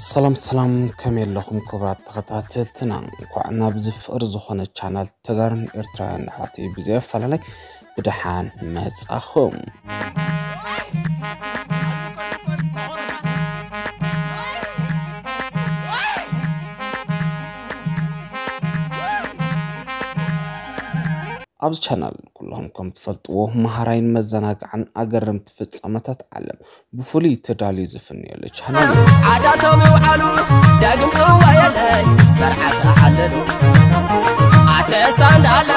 ሰላም ሰላም፣ ከመይ ኣለኹም ክቡራት ተኸታተልትና? እንኳዕ ናብዚ ፍቕሪ ዝኾነ ቻናል ተጋሩን ኤርትራውያን ኣሕዋተይ ብዘይ ኣፈላላይ ብደሓን መጻኹም። ኣብዚ ቻናል ኩልኹም ከም ትፈልጥዎ መሃራይን መዘናግዓን ኣገረምቲ ፍጻመታት ዓለም ብፍሉይ ተዳልዩ ዝፍነየሉ ቻናል እዩ። ዓዳቶም ይውዓሉ ዳግም ጽዋ የለን መርዓት ዓለሉ ኣተ ሳንዳለ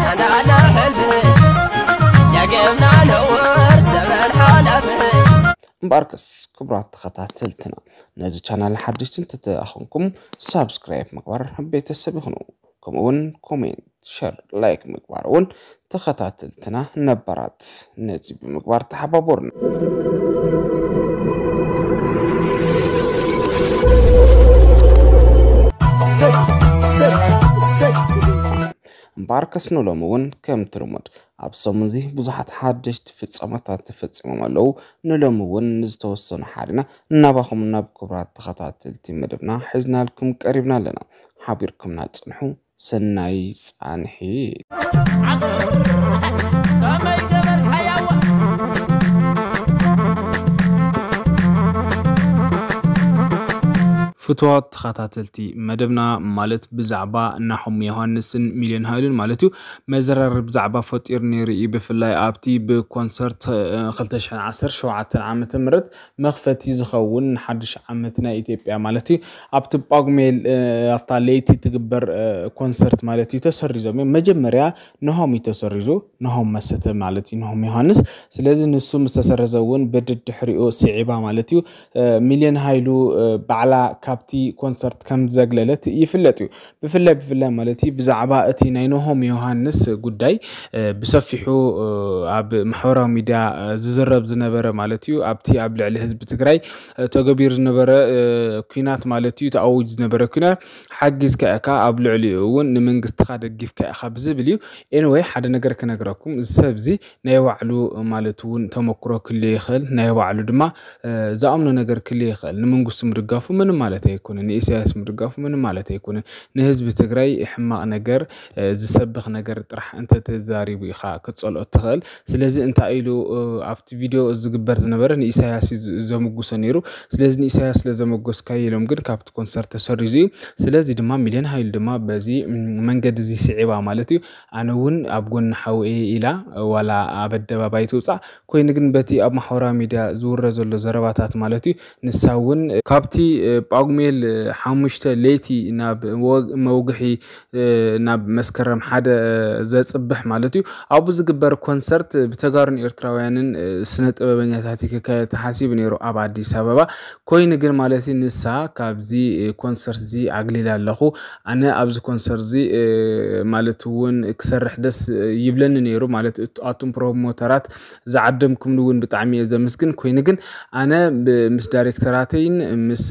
ሳንዳለ ሕልሚ ደገምና ነውር ዘመን ሓላፊ። እምበኣርከስ ክቡራት ተኸታተልትና፣ ነዚ ቻናል ሓደሽቲ እንተተኣኸንኩም ሳብስክራይብ ምግባር ቤተሰብ ይኹኑ። ከምኡውን ኮሜንት፣ ሸር፣ ላይክ ምግባር እውን ተኸታተልትና ነባራት ነዚ ብምግባር ተሓባበሩና። እምበኣርከስ ንሎሚ እውን ከምቲ ልሙድ ኣብ ሰሙን እዚ ብዙሓት ሓደሽቲ ፍጻመታት ተፈጺሞም ኣለዉ። ንሎሚ እውን ንዝተወሰኑ ሓሪና ናባኹም ናብ ክቡራት ተኸታተልቲ መደብና ሒዝናልኩም ቀሪብና ኣለና። ሓቢርኩምና ጽንሑ። ሰናይ ጻንሒት። ፍትዋት ተኸታተልቲ መደብና፣ ማለት ብዛዕባ ናሆም ዮሃንስን ሚልዮን ሃይሉን ማለት እዩ፣ መዘራረቢ ዛዕባ ፈጢሩ ነይሩ እዩ። ብፍላይ ኣብቲ ብኮንሰርት፣ እ፣ ክልተ ሽሕን ዓሰርተ ሸውዓተን ዓመተ ምህረት መኽፈቲ ዝኸውን ንሓድሽ ዓመት ናይ ኢትዮጵያ ማለት እዩ፣ ኣብቲ ጳጉሜ፣ እ፣ ኣብታ ለይቲ ትግበር፣ እ፣ ኮንሰርት ማለት እዩ ተሰሪዞም እዮም። መጀመርያ ናሆም እዩ ተሰሪዙ፣ ናሆም መሰተ ማለት እዩ፣ ናሆም ዮሃንስ። ስለዚ ንሱ ምስ ተሰረዘ እውን ብድድሕሪኡ ስዒባ ማለት እዩ፣ እ፣ ሚልዮን ሃይሉ፣ እ፣ ባዕላ ካብቲ ኮንሰርት ከም ዘግለለት ይፍለጥ እዩ። ብፍላይ፣ ብፍላይ ማለት እዩ ብዛዕባ እቲ ናይ ናሆም ዮሃንስ ጉዳይ፣ እ፣ ብሰፊሑ፣ እ፣ ኣብ ማሕበራዊ ሚድያ፣ እ፣ ዝዝረብ ዝነበረ ማለት እዩ። ኣብቲ ኣብ ልዕሊ ህዝቢ ትግራይ፣ እ፣ ተገቢሩ ዝነበረ፣ እ፣ ኲናት ማለት እዩ፣ ተኣዊጁ ዝነበረ ኲናት ሓጊዝካ ኢኻ፣ ኣብ ልዕሊኡ እውን ንመንግስትኻ ደጊፍካ ኢኻ ብዝብል እዩ። ኤኒወይ፣ ሓደ ነገር ክነግረኩም፣ እዚ ሰብ እዚ ናይ ባዕሉ ማለት እውን ተመክሮ ክልዮ ይኽእል፣ ናይ ባዕሉ ድማ፣ እ፣ ዝኣምኖ ነገር ክልዮ ይኽእል። ንመንግስቱ ምድጋፉ ምንም ማለት ኣይኮነን፣ ንኢሳያስ ምድጋፉ ምንም ማለት ኣይኮነን። ንህዝቢ ትግራይ ሕማቕ ነገር፣ እ፣ ዝሰብኽ ነገር ጥራሕ እንተተዛሪቡ ኢኻ ክትጸልኦ ትኽእል። ስለዚ እንታይ ኢሉ፣ እ፣ ኣብቲ ቪድዮ ዝግበር ዝነበረ ንኢሳያስ እዩ ዝ-፣ ዘምጉሶ ነይሩ። ስለዚ ንኢሳያስ ስለ ዘመጎስካዮ ኢሎም ግን ካብቲ ኮንሰርት ተሰሪዙ እዩ። ስለዚ ድማ ሚልዮን ሃይሉ ድማ በዚ፣ ም፣ መንገዲ እዚ ስዒባ ማለት እዩ። ኣነ እውን ኣብ ጎኒ ሓወይ ኢላ ዋላ ኣብ ኣደባባይ ትውጻእ፣ ኮይኑ ግን በቲ ኣብ ማሕበራዊ ሚድያ ዝውረ ዘሎ ዘረባታት ማለት እዩ፣ ንሳ እውን ካብቲ፣ እ፣ ጳጉሜል፣ እ፣ ሓሙሽተ ለይቲ ናብ ወግ-፣ መውግሒ፣ እ፣ ናብ መስከረም ሓደ ዘጽብሕ ማለት እዩ፣ ኣብኡ ዝግበር ኮንሰርት ብተጋሩን ኤርትራውያንን፣ እ፣ ስነ ጥበበኛታት ክካየድ ተሓሲቡ ነይሩ ኣብ ኣዲስ ኣበባ። ኮይኑ ግን ማለት እዩ ንሳ ካብዚ፣ እ፣ ኮንሰርት እዚ ኣግሊላ ኣለኹ፣ ኣነ ኣብዚ ኮንሰርት እዚ፣ እ፣ ማለት እውን ክሰርሕ ደስ ይብለኒ ነይሩ፣ ማለት እት-፣ ኣቱም ፕሮሞተራት ዝዓደምኩምኒ እውን ብጣዕሚ እየ ዘመስግን። ኮይኑ ግን ኣነ ብ-፣ ምስ ዳይሬክተራተይን ምስ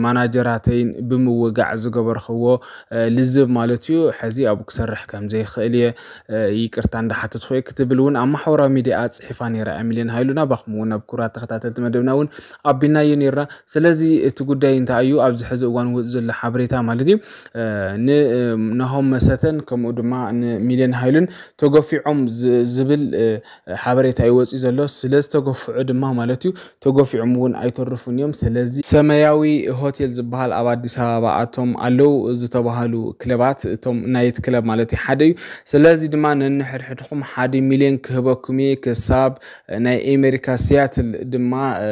ማናጀራተይን ብምውጋዕ ዝገበርክዎ፣ እ፣ ልዝብ ማለት እዩ፣ ሕዚ ኣብኡ ክሰርሕ ከም ዘይክእል እየ፣ እ፣ ይቅርታ እንዳሓተትኩ እየ ክትብል እውን ኣብ ማሕበራዊ ሚድያ ኣጽሒፋ ነይራ እያ ሚልዮን ሃይሉ። ናባኹም እውን ናብ ክቡራት ተኸታተልቲ መደብና እውን ኣቢናዮ ነይርና። ስለዚ እቲ ጉዳይ እንታይ እዩ ኣብዚ ሕዚ እዋን ውጽእ ዘሎ ሓበሬታ ማለት እዩ፣ እ፣ ን-፣ እ፣ ናሆም መሰተን ከምኡ ድማ ንሚልዮን ሃይሉን ተገፊዖም ዝ-፣ ዝብል፣ እ፣ ሓበሬታ እዩ ወፂኡ ዘሎ። ስለ ዝተገፍዑ ድማ ማለት እዩ ተገፊዖም እውን ኣይተርፉን እዮም። ስለዚ ሰማያዊ ሆቴል ዝበሃል ኣብ ኣዲስ ኣበባ ኣቶም ኣለዉ ዝተባሃሉ ክለባት፣ እቶም ናይት ክለብ ማለት እዩ ሓደ እዩ። ስለዚ ድማ ነንሕድሕድኹም ሓደ ሚልዮን ክህበኩም እየ፣ ክሳብ ናይ ኣሜሪካ ሲያትል ድማ፣ እ፣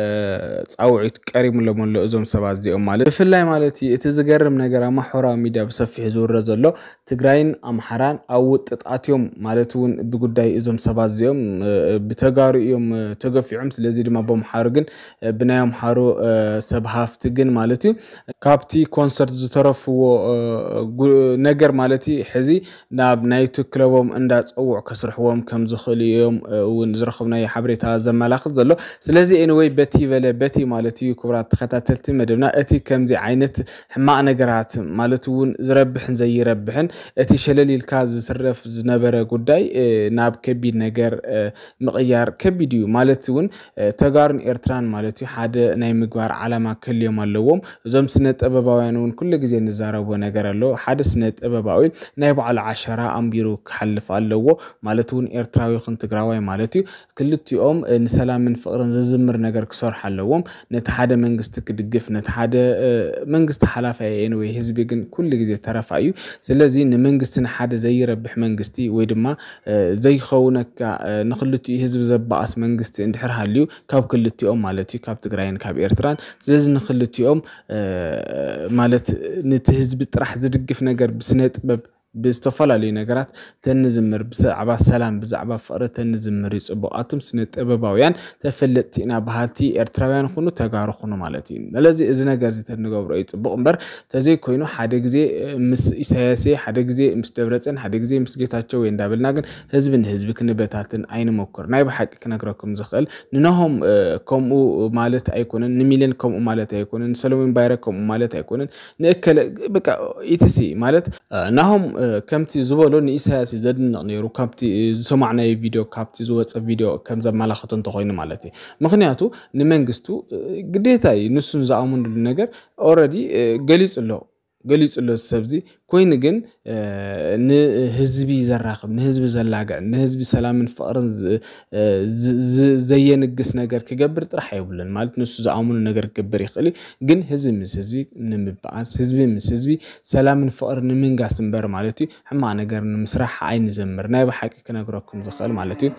ጻውዒት ቀሪብሎም ኣሎ እዞም ሰባት እዚኦም ማለት። ብፍላይ ማለት እዩ እቲ ዝገርም ነገር ኣብ ማሕበራዊ ሚድያ ብሰፊሑ ዝውረ ዘሎ ትግራይን ኣምሓራን ኣብ ውጥጣት እዮም ማለት እውን ብጉዳይ እዞም ሰባት እዚኦም፣ እ፣ ብተጋሩ እዮም፣ እ፣ ተገፊዖም። ስለዚ ድማ በምሓሩ ግን፣ እ፣ ብናይ ኣምሓሩ፣ እ፣ ሰብ ሃፍቲ ግን ማለት እዩ ካብቲ ኮንሰርት ዝተረፍዎ፣ እ፣ ጉ-፣ ነገር ማለት እዩ ሕዚ ናብ ናይቲ ክለቦም እንዳጸውዑ ከስርሕዎም ከም ዝኽእሉ እዮም፣ እ፣ እውን ዝረኸብናዮ ሓበሬታ ዘመላኽት ዘሎ። ስለዚ ኤኒወይ በቲ በለ በቲ ማለት እዩ ክቡራት ተኸታተልቲ መደብና እቲ ከምዚ ዓይነት ሕማቕ ነገራት ማለት እውን ዝረብሕን ዘይረብሕን እቲ ሸለል ኢልካ ዝስረፍ ዝነበረ ጉዳይ፣ እ፣ ናብ ከቢድ ነገር፣ እ፣ ምቕያር ከቢድ እዩ ማለት እውን፣ እ፣ ተጋሩን ኤርትራን ማለት እዩ ሓደ ናይ ምግባር ዓላማ ክህልዮም ኣለዎም። እዞም ስነ ጥበባውያን እውን ኩሉ ግዜ እንዛረቦ ነገር ኣሎ። ሓደ ስነ ጥበባዊ ናይ ባዕሉ ዓሸራ ኣንቢሩ ክሓልፍ ኣለዎ። ማለት እውን ኤርትራዊ ይኹን ትግራዋይ ማለት እዩ። ክልቲኦም፣ እ፣ ንሰላምን ፍቕርን ዘዝምር ነገር ክሰርሑ ኣለዎም። ነቲ ሓደ መንግስቲ ክድግፍ፣ ነቲ ሓደ፣ እ፣ መንግስቲ ሓላፋይ እዩ፣ ወይ ህዝቢ ግን ኩሉ ግዜ ተረፋ እዩ። ስለዚ ንመንግስቲ ንሓደ ዘይረብሕ መንግስቲ ወይ ድማ፣ እ፣ ዘይኸውነካ፣ እ፣ ንክልቲኡ ህዝቢ ዘባኣስ መንግስቲ እንድሕር ሃልዩ ካብ ክልቲኦም ማለት እዩ፣ ካብ ትግራይን ካብ ኤርትራን። ስለዚ ንክልቲኦም፣ እ፣ ማለት ነቲ ህዝቢ ጥራሕ ዝድግፍ ነገር ብስነ ጥበብ ብዝተፈላለዩ ነገራት ተንዝምር፣ ብዛዕባ ሰላም፣ ብዛዕባ ፍቕሪ ተንዝምር እዩ ጽቡቕ። ኣቱም ስነ ጥበባውያን ተፈለጥቲ ኢና በሃልቲ ኤርትራውያን ኩኑ ተጋሩ ኩኑ ማለት እዩ። ስለዚ እዚ ነገር እዚ ተንገብሮ እዩ ጽቡቕ እምበር፣ ተዘይኮይኑ ሓደ ግዜ ምስ ኢሳያስ፣ ሓደ ግዜ ምስ ደብረጽዮን፣ ሓደ ግዜ ምስ ጌታቸው ወይ እንዳበልና ግን ህዝቢ ንህዝቢ ክንበታትን ኣይንሞክር። ናይ ብሓቂ ክነግረኩም ዝኽእል ንናሆም፣ እ፣ ከምኡ ማለት ኣይኮነን፣ ንሚልዮን ከምኡ ማለት ኣይኮነን፣ ንሰለሞን ባይረ ከምኡ ማለት ኣይኮነን፣ ንእከለ በቃ ኢቲሲ ማለት፣ እ፣ ናሆም፣ እ፣ ከምቲ ዝበሎ ንኢሳያስ እዩ ዘድንቕ ነይሩ፣ ካብቲ፣ እ፣ ዝሰማዕናዮ ቪድዮ፣ ካብቲ ዝወፀ ቪድዮ ከም ዘመላኽቶ እንተኾይኑ ማለት እዩ። ምኽንያቱ ንመንግስቱ፣ እ፣ ግዴታ እዩ፣ ንሱን ዝኣምንሉ ነገር ኦረዲ፣ እ፣ ገሊጹ ኣሎ፣ ገሊጹ ኣሎ እዚ ሰብዚ። ኮይኑ ግን፣ እ፣ ንህዝቢ ዘራኽብ፣ ንህዝቢ ዘላግዕ፣ ንህዝቢ ሰላምን ፍቕርን ዝ-፣ እ፣ ዝ-፣ ዝ-፣ ዘየንግስ ነገር ክገብር ጥራሕ ኣይብሉን። ማለት ንሱ ዝኣምኑ ነገር ክገብር ይኽእል እዩ። ግን ህዝቢ ምስ ህዝቢ ንምበኣስ፣ ህዝቢ ምስ ህዝቢ ሰላምን ፍቕርን ንምንጋስ እምበር ማለት እዩ፣ ሕማቕ ነገር ንምስራሕ ኣይንዘምር። ናይ ብሓቂ ክነግረኩም ዝኽእል ማለት እዩ።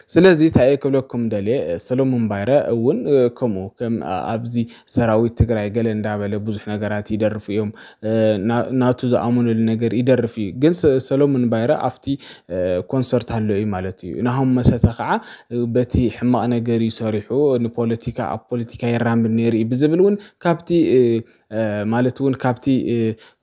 ስለዚ እንታይ እየ ክብለኩም ደልየ፣ ሰሎሞን ባይረ እውን፣ እ፣ ከምኡ ከም፣ አ-፣ ኣብዚ ሰራዊት ትግራይ ገለ እንዳበለ ብዙሕ ነገራት ይደርፉ እዮም። እ፣ ና-፣ ናቱ ዝኣመነሉ ነገር ይደርፍ እዩ። ግን ሰ-፣ ሰሎሞን ባይረ ኣብቲ፣ እ፣ ኮንሰርት ኣሎ እዩ ማለት እዩ። ናሆም መሰተ ከዓ፣ እ፣ በቲ ሕማቕ ነገር እዩ ሰሪሑ፣ ንፖለቲካ፣ ኣብ ፖለቲካ ይራምድ ነይሩ እዩ ብዝብል እውን ካብቲ፣ እ፣ እ፣ ማለት እውን ካብቲ፣ እ፣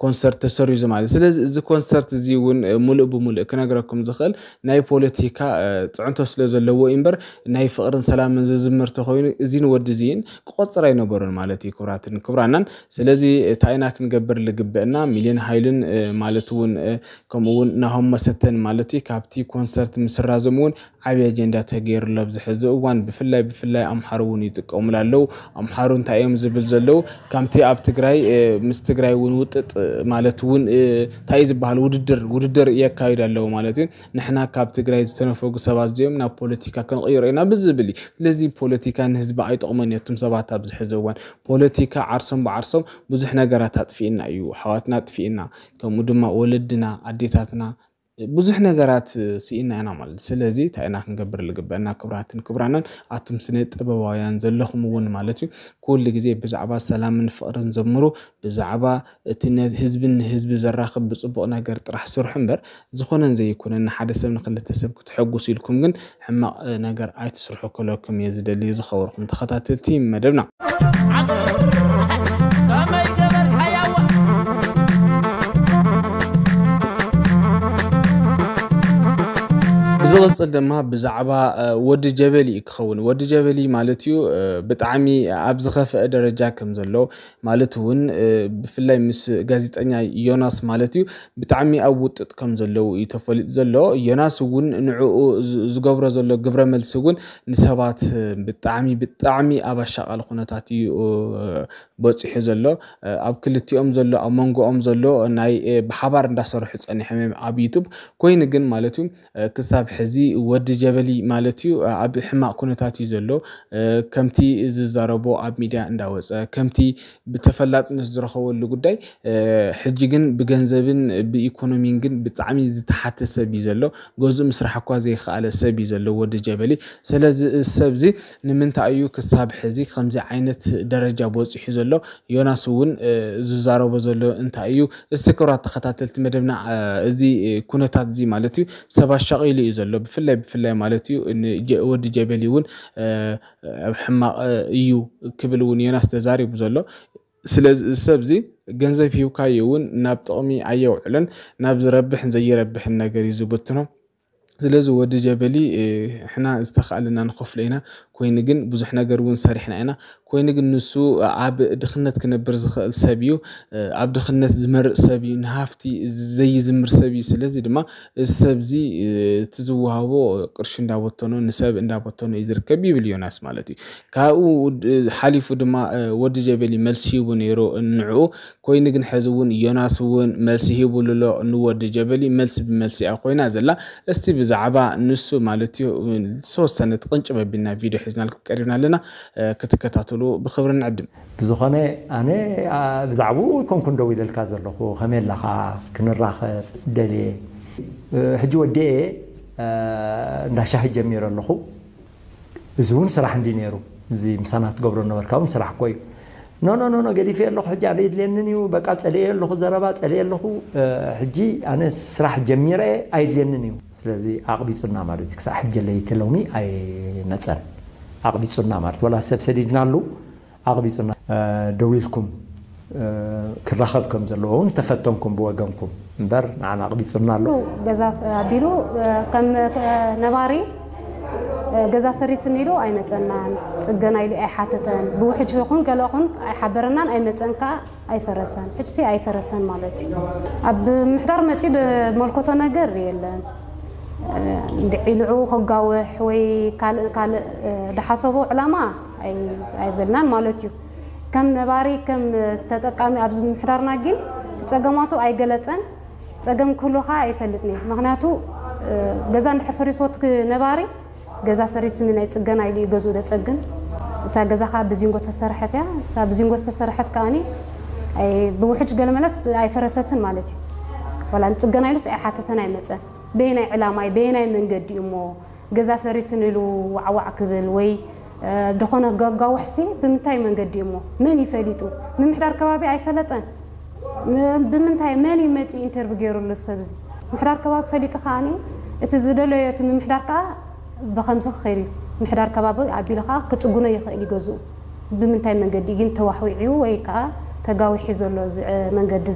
ኮንሰርት ተሰሪዙ ማለት። ስለዚ እዚ ኮንሰርት እዚ እውን፣ እ፣ ሙሉእ ብሙሉእ ክነግረኩም ዝኽእል ናይ ፖለቲካ፣ እ፣ ፅዕንቶ ስለ ዘለዎ እዩ እምበር ናይ ፍቕርን ሰላምን ዝዝምር ተኾይኑ እዚን ወዲ እዚን ክቆፅር ኣይነበሩን ማለት እዩ፣ ክቡራትን ክቡራናን። ስለዚ እንታይ ኢና ክንገብር ልግበአና? ሚልዮን ሃይልን፣ እ፣ ማለት እውን፣ እ፣ ከምኡ እውን ናሆም መሰተን ማለት እዩ ካብቲ ኮንሰርት ምስራዞም እውን ዓብዪ ኣጀንዳ ተገይሩሉ ኣብዚ ሕዚ እዋን። ብፍላይ፣ ብፍላይ ኣምሓሩ እውን ይጥቀሙሉ ኣለዉ። ኣምሓሩ እንታይ እዮም ዝብል ዘለዉ? ከምቲ ኣብ ትግራይ፣ እ፣ ምስ ትግራይ እውን ውጥጥ ማለት እውን፣ እ፣ እንታይ እዩ ዝበሃል? ውድድር፣ ውድድር የካይዱ ኣለዉ ማለት እዩ። ንሕና ካብ ትግራይ ዝተነፈጉ ሰባት እዚኦም ናብ ፖለቲካ ክንቕይሮ ኢና ብዝብል እዩ። ስለዚ ፖለቲካ ንህዝቢ ኣይጠቕሞን እዩ። እቶም ሰባት ኣብዚ ሕዚ እዋን ፖለቲካ ዓርሶም ብዓርሶም ብዙሕ ነገራት ኣጥፊእና እዩ። ኣሕዋትና ኣጥፊእና፣ ከምኡ ድማ ወለድና፣ ኣዴታትና፣ ብዙሕ ነገራት ስኢና ኢና ማለት። ስለዚ እንታይ ኢና ክንገብር ልግበአና? ክቡራትን ክቡራንን ኣቱም ስነ ጥበባውያን ዘለኹም እውን ማለት እዩ፣ ኩሉ ግዜ ብዛዕባ ሰላምን ፍቕርን ዘምሩ፣ ብዛዕባ እቲ ነ-፣ ህዝብን ንህዝቢ ዘራኽብ ብጽቡቕ ነገር ጥራሕ ስርሑ እምበር፣ ዝኾነን ዘይኮነን ንሓደ ሰብ ንክልተ ሰብ ክትሐጉሱ ኢልኩም ግን ሕማቕ፣ እ፣ ነገር ኣይትስርሑ ክብለኩም እየ ዝደሊ ዝኸበርኩም ተኸታተልቲ መደብና። ዓዘር፣ ከመይ ገበርካያዋ? ብዝቕጽል ድማ ብዛዕባ፣ እ፣ ወዲ ጀበሊ እዩ ክኸውን። ወዲ ጀበሊ ማለት እዩ፣ እ፣ ብጣዕሚ ኣብ ዝኸፍአ ደረጃ ከም ዘሎ፣ ማለት እውን፣ እ፣ ብፍላይ ምስ ጋዜጠኛ ዮናስ ማለት እዩ ብጣዕሚ ኣብ ውጥጥ ከም ዘለዉ እዩ ተፈሊጡ ዘሎ። ዮናስ እውን ንዕኡ ዝ-፣ ዝገብሮ ዘሎ ግብረ መልሲ እውን ንሰባት፣ እ፣ ብጣዕሚ፣ ብጣዕሚ ኣብ ኣሻቓሊ ኩነታት እዩ፣ እ፣ በፂሑ ዘሎ። እ፣ ኣብ ክልቲኦም ዘሎ፣ ኣብ መንጎኦም ዘሎ ናይ፣ እ፣ ብሓባር እንዳሰርሑ ፀኒሖም እዮም ኣብ ዩቱብ። ኮይኑ ግን ማለት እዩ፣ እ፣ ክሳብ ሕዚ ወዲ ጀበሊ ማለት እዩ፣ እ፣ ኣብ ሕማቕ ኩነታት እዩ ዘሎ። እ፣ ከምቲ ዝዛረቦ ኣብ ሚድያ እንዳወፀ፣ ከምቲ ብተፈላጥነት ዝረኸበሉ ጉዳይ፣ እ፣ ሕጂ ግን ብገንዘብን ብኢኮኖሚን ግን ብጣዕሚ ዝተሓተ ሰብ እዩ ዘሎ። ገዝኡ ምስራሕ እኳ ዘይከኣለ ሰብ እዩ ዘሎ ወዲ ጀበሊ። ስለዚ እዚ ሰብ እዚ ንምንታይ እዩ ክሳብ ሕዚ ከምዚ ዓይነት ደረጃ በፂሑ ዘሎ? ዮናስ እውን፣ እ፣ ዝዛረቦ ዘሎ እንታይ እዩ? እስቲ ክቡራት ተኸታተልቲ መደብና፣ እ፣ እዚ፣ እ፣ ኩነታት እዚ ማለት እዩ ሰብ ኣሻቒሉ እዩ ዘሎ። ብፍላይ፣ ብፍላይ ማለት እዩ ን-፣ ጀ-፣ ወዲ ጀበሊ እውን፣ እ፣ ኣብ ሕማቕ፣ እ፣ እዩ ክብል እውን ዮናስ ተዛሪቡ ዘሎ። ስለዚ እዚ ሰብ እዚ ገንዘብ ሂብካዮ እውን ናብ ጥቕሚ ኣየውዕሎን፣ ናብ ዝረብሕን ዘይረብሕን ነገር እዩ ዝብትኖ። ስለዚ ወዲ ጀበሊ፣ እ፣ ሕና ዝተኻእለና ንኸፍሎ ኢና። ኮይኑ ግን ብዙሕ ነገር እውን ሰሪሕና ኢና። ኮይኑ ግን ንሱ ኣብ ድኽነት ክነብር ዝኽእል ሰብ እዩ። ኣብ ድኽነት ዝመርጽ ሰብ እዩ። ንሃፍቲ ዘይዝምር ሰብ እዩ። ስለዚ ድማ እዚ ሰብ እዚ እቲ ዝወሃቦ ቅርሺ እንዳበተኖ ንሰብ እንዳበተኖ እዩ ዝርከብ ይብል ዮናስ ማለት እዩ። ካብኡ ሓሊፉ ድማ ወዲ ጀበሊ መልሲ ሂቡ ነይሩ። ንዕኡ ኮይኑ ግን ሕዚ እውን ዮናስ እውን መልሲ ሂቡሉ ኣሎ ንወዲ ጀበሊ። መልሲ ብመልሲ እያ ኮይና ዘላ። እስቲ ብዛዕባ ንሱ ማለት እዩ ዝተወሰነ ትቕንጭብ ኣቢልና ቪድዮ ሒዝናልኩም ቀሪብና ኣለና። ክትከታተሉ ብኽብሪ ንዕድም። ብዝኾነ ኣነ ብዛዕባኡ ይኮንኩን ደው ኢለልካ ዘለኹ። ከመይ ኣለኻ? ክንራኸብ ደልየ። ሕጂ ወዲኤ እንዳ ሻሂ ጀሚረ ኣለኹ። እዚ እውን ስራሕ እንዲ ነይሩ፣ እዚ ምሳና ትገብሮ ነበርካ እውን ስራሕ እኮ እዩ። ኖ ኖ ኖ ኖ፣ ገዲፈ ኣለኹ፣ ሕጂ ኣነ የድልየንን እዩ። በቃ ጸልየ ኣለኹ፣ ዘረባ ጸልየ ኣለኹ። ሕጂ ኣነ ስራሕ ጀሚረ ኣይድልየንን እዩ። ስለዚ ኣቕቢጹና ማለት እዩ። ክሳዕ ሕጂ ለይቲ ሎሚ ኣይመጸን። ኣቕቢጹና ማለት፣ ወላ ሰብ ሰዲድናሉ ኣቕቢጹና። ደው ኢልኩም ክራኸብ ከም ዘለዎ እውን ተፈተንኩም ብወገንኩም እምበር፣ ንዓና ኣቕቢጹና ኣሎ። ገዛ ኣቢሉ ከም ነባሪ ገዛ ፈሪስኒ ኢሉ ኣይመጸናን፣ ጽገና ኢሉ ኣይሓተተን። ብውሕጅ ይኹን ገለ ይኹን ኣይሓበረናን፣ ኣይመጸን ከኣ ኣይፈረሰን። ሕጅሲ ኣይፈረሰን ማለት እዩ። ኣብ ምሕዳር መጺኡ ዝመልከቶ ነገር የለን። እንድዒ ንዕኡ ከጋውሕ ወይ ካልእ ካልእ ዝሓሰቦ ዕላማ ኣይበልናን ማለት እዩ። ከም ነባሪ ከም ተጠቃሚ ኣብዚ ምሕዳርና ግን እቲ ጸገማቱ ኣይገለጸን። ጸገም ክህሉ ከኣ ኣይፈልጥን እየ። ምኽንያቱ ገዛ እንድሕር ፈሪስዎ እቲ ነባሪ ገዛ ፈሪስኒ ናይ ጽገና ኢሉ እዩ ገዝኡ ዘጸግን። እታ ገዛ ከኣ ብዚንጎ ተሰርሐት እያ። እታ ብዚንጎ ዝተሰርሐት ከኣኒ ብውሕጅ ገለ መለስ ኣይፈረሰትን ማለት እዩ። ዋላ ንጽገና ኢሉስ ኣይሓተተን ኣይመጸን። በየናይ ዕላማይ በየናይ መንገዲ እዩ እሞ ገዛ ፈሪስኒ ኢሉ ዋዕዋዕ ክብል ወይ ዝኾነ ገጋውሕሲ ብምንታይ መንገዲ እሞ መን ይፈሊጡ? ምምሕዳር ከባቢ ኣይፈለጠን። ብምንታይ መን እዩ መፂኡ ኢንተርቪው ገይሩሉ ሰብ እዚ? ምሕዳር ከባቢ ፈሊጡ ከዓኒ እቲ ዝደለዮ እቲ ምምሕዳር ከዓ ብኸምዚ ክኸይድ እዩ። ምሕዳር ከባቢ ኣቢሉ ከዓ ክፅጉኖ ይኽእል እዩ ገዝኡ። ብምንታይ መንገዲ ግን ተዋሕዊዑ ወይ ከዓ ተጋዊሑ ዘሎ እዚ መንገዲ?